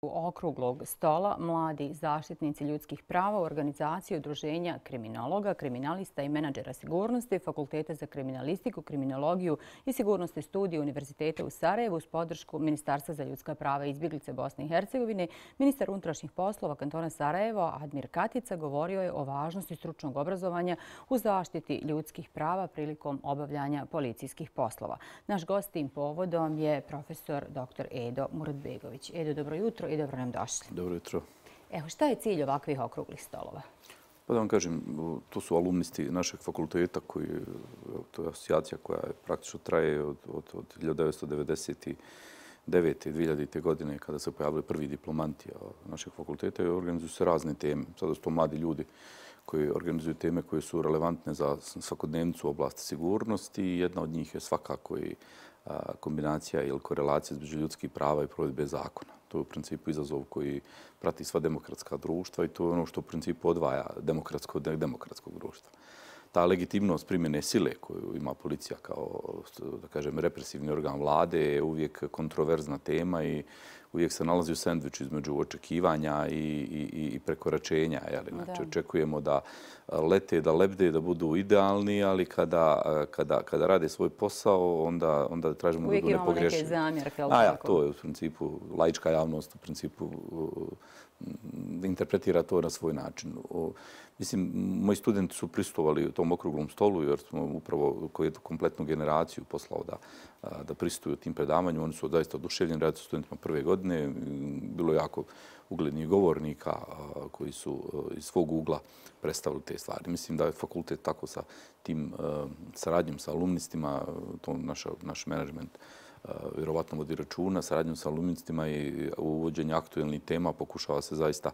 okruglog stola mladi zaštitnici ljudskih prava u organizaciji udruženja kriminologa, kriminalista i menadžera sigurnosti, Fakulteta za kriminalistiku, kriminologiju i sigurnosne studije Univerziteta u Sarajevu uz podršku Ministarstva za ljudska prava i izbjeglice Bosne i Hercegovine. Ministar unutrašnjih poslova kantona Sarajevo, Admir Katica, govorio je o važnosti stručnog obrazovanja u zaštiti ljudskih prava prilikom obavljanja policijskih poslova. Naš gost tim povodom je profesor dr. Edo Muratbegović. Edo, dobro jutro i dobro nam došli. Dobro jutro. Evo, šta je cilj ovakvih okruglih stolova? Pa da vam kažem, to su alumnisti našeg fakulteta to je asocijacija koja praktično traje od 1999. i 2000. godine kada se pojavili prvi diplomanti našeg fakulteta i organizuju se razne teme. Sada su to mladi ljudi koji organizuju teme koje su relevantne za svakodnevnicu u oblasti sigurnosti i jedna od njih je svakako i kombinacija ili korelacija između ljudskih prava i provedbe zakona. To je u principu izazov koji prati sva demokratska društva i to je ono što u principu odvaja demokratsko od nedemokratskog društva. Ta legitimnost primjene sile koju ima policija kao, da kažem, represivni organ vlade je uvijek kontroverzna tema i uvijek se nalazi u sendviču između očekivanja i prekoračenja. Znači, očekujemo da lete, da lebde, da budu idealni, ali kada rade svoj posao, onda tražimo da budu nepogrešivi. Uvijek imamo neke zamjerke. To je u principu, laička javnost u principu interpretira to na svoj način. Mislim, moji studenti su prisustvovali u tom okruglom stolu jer smo upravo kompletnu generaciju poslao da prisustvuju tim predavanju. Oni su zaista oduševljeni, radi su studentima prve godine. Bilo je jako uglednih govornika koji su iz svog ugla predstavili te stvari. Mislim da je fakultet tako sa tim saradnjom sa alumnistima, to naš menadžment vjerovatno vodi računa, saradnjom sa alumnistima i uvođenje aktualnih tema pokušava se zaista,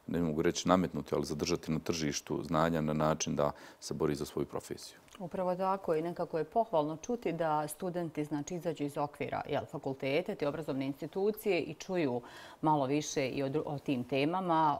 ne mogu reći nametnuti, ali zadržati na tržištu znanja na način da se bori za svoju profesiju. Upravo tako i nekako je pohvalno čuti da studenti izađu iz okvira fakultete, te obrazovne institucije i čuju malo više i o tim temama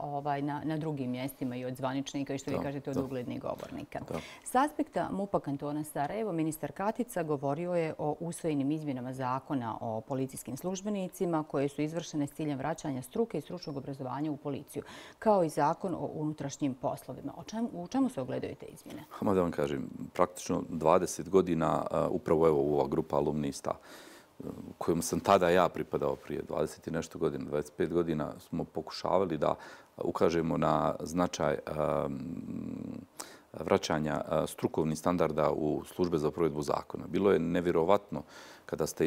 na drugim mjestima i od zvaničnika i što vi kažete od uglednih govornika. S aspekta MUP-a kantona Sarajevo, ministar Katica govorio je o usvojenim izmjenama zakona o policijskim službenicima koje su izvršene s ciljem vraćanja struke i stručnog obrazovanja u policiju, kao i zakon o unutrašnjim poslovima. U čemu se ogledaju te izmjene? Da vam kažem, praktično 20 godina upravo ova grupa alumnista kojom sam tada ja pripadao prije 20 i nešto godina, 25 godina, smo pokušavali da ukažemo na značaj vraćanja strukovnih standarda u službe za provedbu zakona. Bilo je nevjerovatno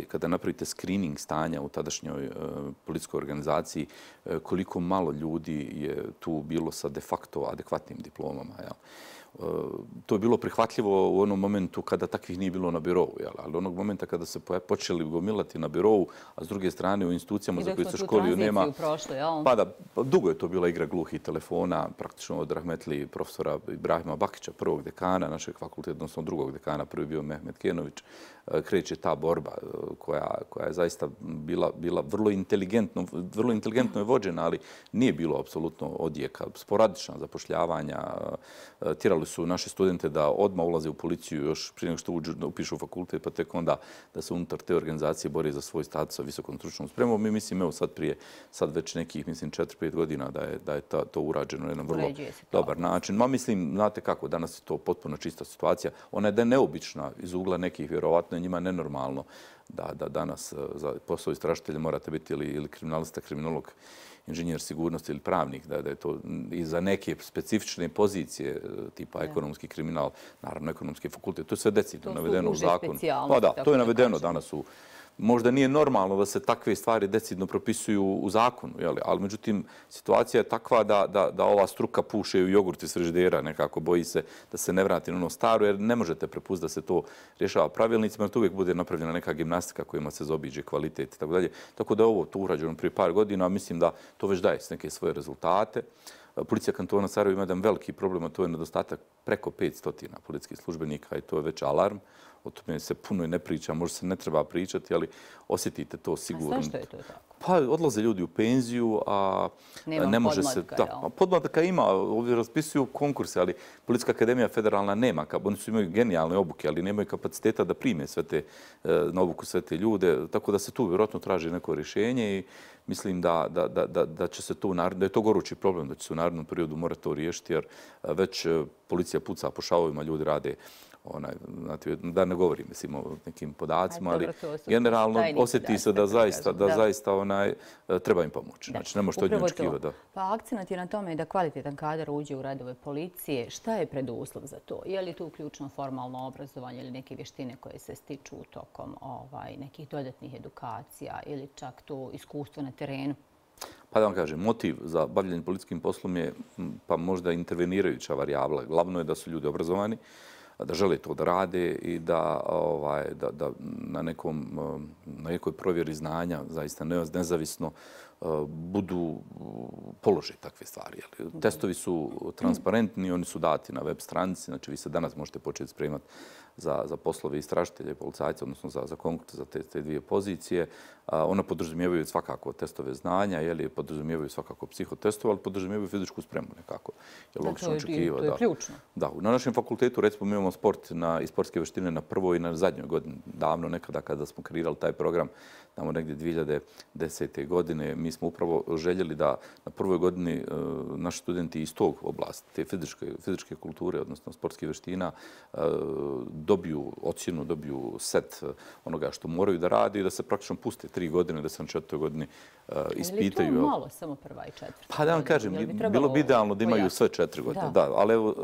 kada napravite screening stanja u tadašnjoj policijskoj organizaciji koliko malo ljudi je tu bilo sa de facto adekvatnim diplomama. To je bilo prihvatljivo u onom momentu kada takvih nije bilo na birovu, ali onog momenta kada se počeli gomilati na birovu, a s druge strane u institucijama za koje se školio nema... Dugo je to bila igra gluhih telefona, praktično od rahmetli profesora Ibrahima Bakića, prvog dekana našeg fakulteta, odnosno drugog dekana, prvi bio Mehmet Kenović, kreće ta borba koja je zaista bila vrlo inteligentno je vođena, ali nije bilo apsolutno odjeka. Sporadična zapošljavanja, tjerali su naše studente da odmah ulaze u policiju još prije nego što upišu fakultet, pa tek onda da se unutar te organizacije bori za svoj status sa visokom stručnom spremom. Mi mislim, evo sad već nekih, 4-5 godina da je to urađeno na jedan vrlo dobar način. Mislim, znate kako, danas je to potpuno čista situacija. Ona je neobična iz ugla nekih, vjerovatno je njima nenormalno da danas za posao istražitelja morate biti ili kriminalista, kriminolog, inženjer sigurnosti ili pravnik, da je to i za neke specifične pozicije tipa ekonomski kriminal, naravno ekonomski fakultet, to je sve decidno navedeno u zakonu. Pa da, to je navedeno danas u... Možda nije normalno da se takve stvari decidno propisuju u zakonu, ali međutim situacija je takva da ova struka puše u jogurt iz frižidera, nekako boji se da se ne vrati na ono staro, jer ne možete prepustiti da se to rješava pravilnicima, jer to uvijek bude napravljena neka gimnastika kojima se zaobiđe kvalitet i tako dalje. Tako da je ovo to urađeno prije par godina, a mislim da to već daje neke svoje rezultate. Policija kantona Sarajevo ima jedan veliki problem, a to je nedostatak preko 500 policijskih službenika i to je već alarm. O tome se puno i ne priča, možda se ne treba pričati, ali osjetite to sigurno. A zašto je to tako? Pa odlaze ljudi u penziju, a ne može se... Podmlatka ima, ovdje raspisuju konkurse, ali Policijska akademija federalna nema. Oni su imaju genijalne obuke, ali nemaju kapaciteta da prime na obuku sve te ljude. Tako da se tu vjerojatno traži neko rješenje i mislim da će se to, da je to gorući problem, da će se u narednom periodu morati to riješiti, jer već policija puca po šavovima, ljudi rade da ne govorim o nekim podacima, ali generalno osjeti se da zaista treba im pomoći. Znači, ne može to od nje očekivati. Pa akcenat je na tome da kvalitetan kadar uđe u redove policije. Šta je preduslov za to? Je li tu ključno formalno obrazovanje ili neke vještine koje se stiču tokom nekih dodatnih edukacija ili čak to iskustvo na terenu? Pa da vam kažem, motiv za bavljenje policijskim poslom je pa možda intervenirajuća varijabla. Glavno je da su ljudi obrazovani, da žele to da rade i da na nekoj provjeri znanja, zaista nezavisno, budu položaj takve stvari. Testovi su transparentni, oni su dati na web stranici, znači vi se danas možete početi spremati za poslove istražitelja i policajca, odnosno za konkurs za te dvije pozicije. Ona podrazumijevaju svakako testove znanja, podrazumijevaju svakako psihotestove, ali podrazumijevaju fizičku spremu nekako. To je ključno. Da, na našem fakultetu recimo mi imamo sport i sportske vještine na prvoj i na zadnjoj godini. Davno nekada kada smo kreirali taj program, tamo negdje 2010. godine, mi smo upravo željeli da na prvoj godini naši studenti iz tog oblasti, te fizičke kulture, odnosno sportskih vještina, dobiju ocjenu, dobiju set onoga što moraju da radi i da se praktično puste 3 godine, da se na 4. godini ispitaju. Je li to malo, samo prva i 4. Pa da vam kažem, bilo bi idealno da imaju sve 4 godine. Da, ali evo,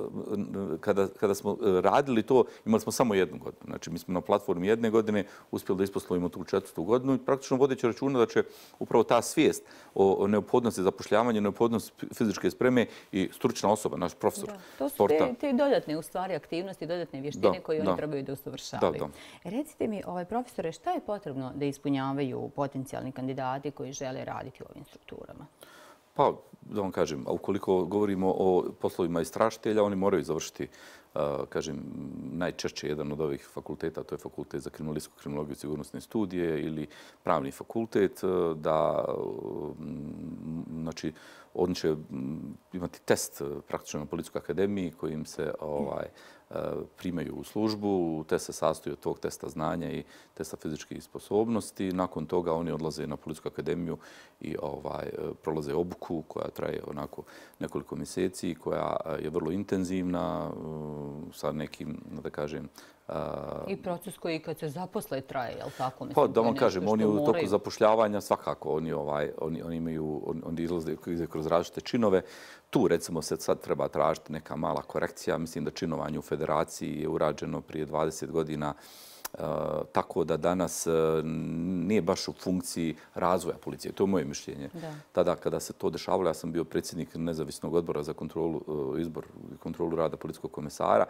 kada smo radili to, imali smo samo 1 godinu. Znači, mi smo na platformi 1 godine uspjeli da isposlovimo tu 4. godinu i praktično vodeći računa da će upravo ta svijest o neophodnosti zapošljavanja, neophodnosti fizičke spreme i stručna osoba, naš profesor sporta. To su te dodatne u stvari aktivnosti, dodatne vještine koje oni trebaju da usavršavaju. Recite mi, profesore, šta je potrebno da ispunjavaju potencijalni kandidati koji žele raditi u ovim strukturama? Pa, da vam kažem, ukoliko govorimo o poslovima istražitelja, oni moraju završiti, kažem, najčešće jedan od ovih fakulteta, to je fakultet za kriminalistiku, kriminologiju i sigurnosne studije ili pravni fakultet, da, znači, oni će imati test praktično na Policijskoj akademiji kojim se primaju u službu. Test se sastoji od tog testa znanja i testa fizičkih sposobnosti. Nakon toga oni odlaze na Policijsku akademiju i prolaze obuku koja traje onako nekoliko mjeseci, koja je vrlo intenzivna sa nekim, da kažem, i proces koji kad se zaposle traje, je li tako? Pa da vam kažem, oni u toku zapošljavanja svakako, oni imaju, oni izlaze kroz različite činove. Tu recimo se sad treba tražiti neka mala korekcija. Mislim da činovanje u federaciji je urađeno prije 20 godina, tako da danas nije baš u funkciji razvoja policije. To je moje mišljenje. Tada kada se to dešavalo, ja sam bio predsjednik nezavisnog odbora za izbor i kontrolu rada policijskog komesara.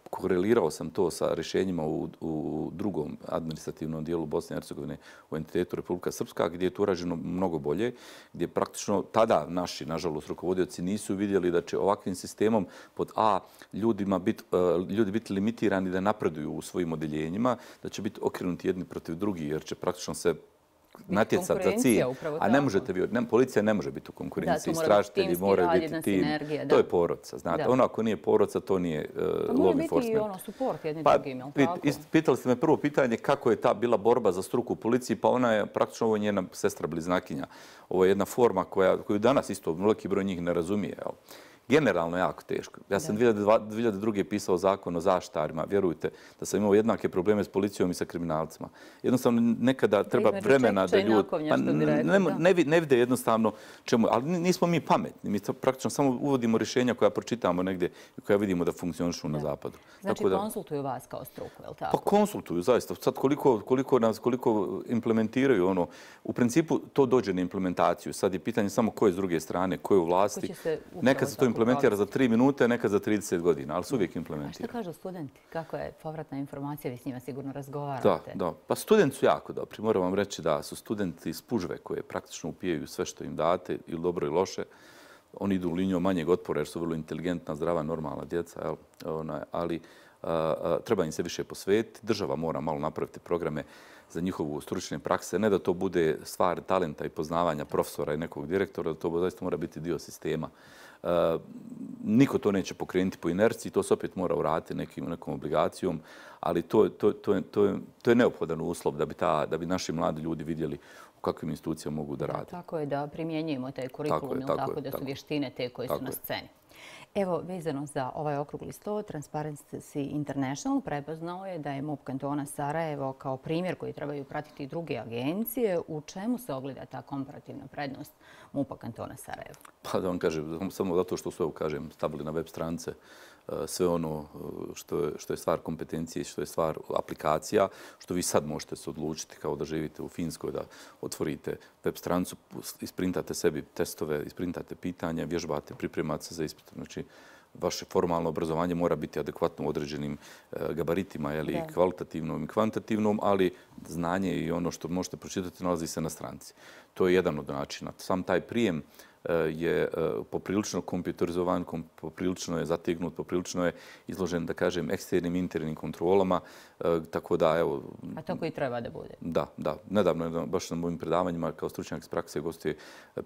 Korelirao sam to sa rješenjima u drugom administrativnom dijelu Bosne i Hercegovine u entitetu Republika Srpska, gdje je to urađeno mnogo bolje, gdje praktično tada naši, nažalost, rukovodioci nisu vidjeli da će ovakvim sistemom pod A ljudi biti limitirani da napreduju u svojim odeljenjima, da će biti okrenuti jedni protiv drugih, jer će praktično se natjecati za cilj. A ne možete vi, policija ne može biti u konkurenciji, istražitelji moraju biti tim. To je porodca, znate. Ono ako nije porodca, to nije law enforcement. Mora biti i ono support jedni drugim, je li tako? Pitali ste me prvo pitanje kako je ta bila borba za struku u policiji, pa ona je praktično ovo njena sestra bliznakinja. Ovo je jedna forma koju danas isto veliki broj njih ne razumije. Generalno jako teško. Ja sam 2002. pisao zakon o zaštitarima. Vjerujte da sam imao jednake probleme s policijom i sa kriminalcima. Jednostavno nekada treba vremena da ljudi ne vide jednostavno čemu. Ali nismo mi pametni. Mi praktično samo uvodimo rješenja koja pročitamo negdje i koja vidimo da funkcionišu na zapadu. Znači konsultuju vas kao struku, je li tako? Pa konsultuju, zaista. Sad koliko implementiraju ono. U principu to dođe na implementaciju. Sad je pitanje samo ko je s druge strane, ko je u vlasti. Nekad se to implementira za 3 minute, nekad za 30 godina, ali se uvijek implementira. A što kažu studenti? Kako je povratna informacija? Vi s njima sigurno razgovarate. Da. Pa studenti su jako dobri. Moram vam reći da su studenti spužve koje praktično upijaju sve što im date, ili dobro i loše. Oni idu linijom manjeg otpora jer su vrlo inteligentna, zdrava, normalna djeca. Ali treba im se više posvetiti. Država mora malo napraviti programe za njihovu stručne prakse. Ne da to bude stvar talenta i poznavanja profesora i nekog direktora, da to zaista mora biti dio sistema. Niko to neće pokrenuti po inerciji, to se opet mora uraditi nekom obligacijom, ali to je neophodan uslov da bi naši mladi ljudi vidjeli u kakvim institucijama mogu da rade. Tako je, da primjenjujemo taj kurikulum, tako da su vještine te koje su na sceni. Evo, vezano za ovaj okrugli sto, Transparency International prepoznao je da je MUP kantona Sarajevo kao primjer koji trebaju pratiti druge agencije. U čemu se ogleda ta komparativna prednost MUP-a kantona Sarajevo? Pa da vam kažem, samo zato što su, kažem, stavili na web stranice sve ono što je stvar kompetencije, što je stvar aplikacija, što vi sad možete se odlučiti kao da živite u Finskoj, da otvorite web stranicu, isprintate sebi testove, isprintate pitanja, vježbate, pripremate se za ispit. Znači, vaše formalno obrazovanje mora biti adekvatno u određenim gabaritima, kvalitativnom i kvantitativnom, ali znanje i ono što možete pročitati nalazi se na stranici. To je jedan od načina. Sam taj prijem je poprilično kompjuterizovan, poprilično je zategnut, poprilično je izložen, da kažem, eksternim i internim kontrolama. Tako da, evo... A tako i treba da bude. Da. Nedavno, baš na mojim predavanjima, kao stručnjak iz prakse, gostuje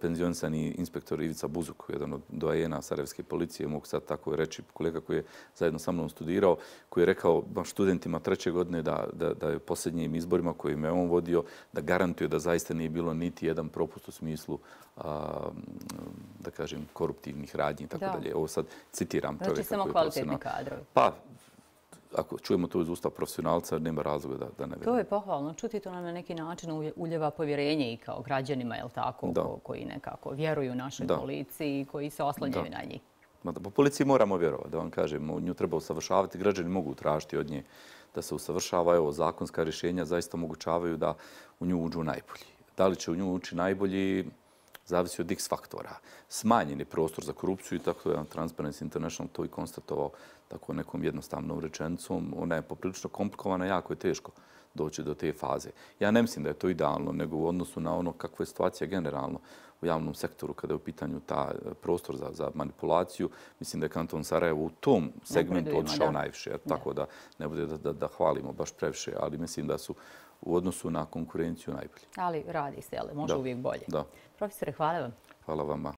penzionisani inspektor Ivica Buzuk, jedan od doajena Sarajevske policije, mogu sad tako reći, kolega koji je zajedno sa mnom studirao, koji je rekao baš studentima 3. godine da je posljednjim izborima kojim je on vodio, da garantuje da zaista nije bilo niti jedan propust u smislu da kažem, koruptivnih radnji i tako dalje. Ovo sad citiram čovjeka. Znači samo kvalitetni kadrovi. Pa, ako čujemo to iz usta profesionalca, nema razloga da ne vjerujemo. To je pohvalno. Čuti to nam na neki način uljeva povjerenje i kao građanima, jel tako, koji nekako vjeruju našoj policiji i koji se oslanjaju na njih. Po policiji moramo vjerovati, da vam kažem. Nju treba usavršavati. Građani mogu tražiti od nje da se usavršava. Evo, zakonska rješenja zaista omogućavaju da u nju uđu najbolji. Da li će u nju ući najbolji, zavisi od x faktora. Smanjen je prostor za korupciju i tako je Transparency International to i konstatovao tako nekom jednostavnom rečenicom. Ona je poprilično komplikovana, jako je teško doći do te faze. Ja ne mislim da je to idealno, nego u odnosu na ono kakva je situacija generalno u javnom sektoru kada je u pitanju ta prostor za manipulaciju. Mislim da je kanton Sarajevo u tom segmentu odšao najviše. Tako da ne bude da hvalimo baš previše, ali mislim da su u odnosu na konkurenciju najbolji. Ali radi se, može uvijek bolje. Da. Profesore, hvala vam. Hvala vama.